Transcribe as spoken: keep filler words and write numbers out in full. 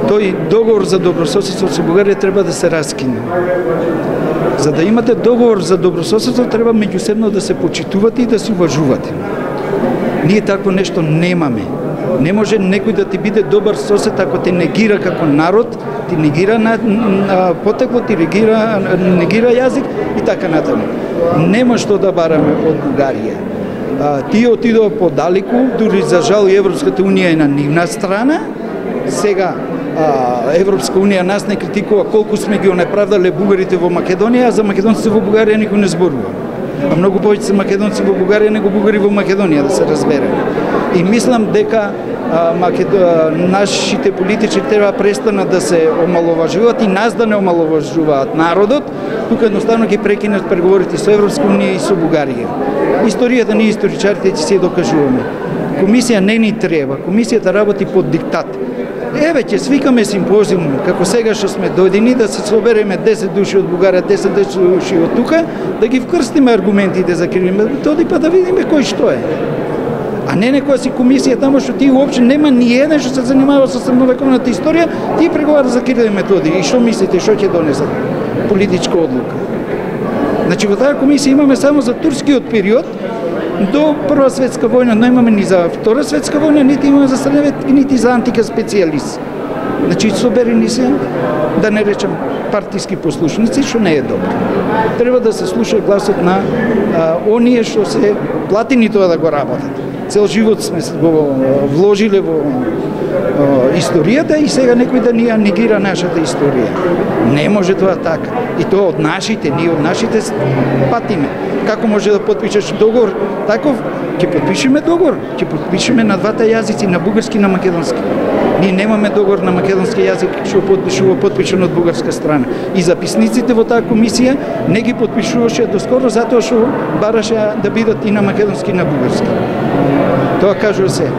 Тој договор за добрососедство со Бугарија треба да се раскине. За да имате договор за добрососедство, треба меѓусебно да се почитувате и да се уважувате. Ние такво нешто немаме. Не може некој да ти биде добар сосед ако те негира како народ, ти негира на, на потекло, ти негира, негира јазик и така натаму. Нема што да бараме од Бугарија. А, тие отидоа подалеку, дури за жал и Европската унија е на нивна страна. Сега а, Европска унија нас не критикува колку сме ги онеправдале бугарите во Македонија, а за македонците во Бугарија никој не зборува. А многу повеќе се македонци во Бугарија него бугари во Македонија, да се разбереме. И мислам дека а, Македо... нашите политичари треба престанат да се омаловажуваат и нас да не омаловажуваат народот, тука едноставно ги прекинат преговорите со Европска унија и со Бугарија. Историјата ние историчарите ќе се докажуваме. Комисија не ни треба, комисијата работи под диктат. Еве ќе свикаме симпозиум, како сега што сме дојдени, да се собереме десет души од Бугарија, десет души од тука, да ги вкрстиме аргументите за кривиме, тоди па да видиме кој што е. А не некоја си комисија тамо што ти уопште нема ни еден што се занимава со средновековната историја, ти преговара за Кирил и Методија. И што мислите, што ќе донесат? Политичка одлука. Значи во таа комисија имаме само за турскиот период до Прва светска војна, но имаме ни за Втора светска војна, нити имаме за средновек, нити за антика специјалист. Значи соберени се, да не речем партиски послушници, што не е добро. Треба да се слуша гласот на а, оние што се платени тоа да го работат. Цел живот сме го вложиле во а, историјата и сега некој да ни ја негира нашата историја. Не може тоа така. И тоа од нашите, ние од нашите патиме. Како може да потпишеш договор таков? Ќе потпишеме договор, ќе потпишеме на двата јазици, на бугарски и на македонски. Ние немаме договор на македонски јазик што потпишува потпишан од бугарска страна. И записниците во таа комисија не ги потпишуваше доскоро затоа што бараше да бидат и на македонски и на бугарски. Тоа кажува се.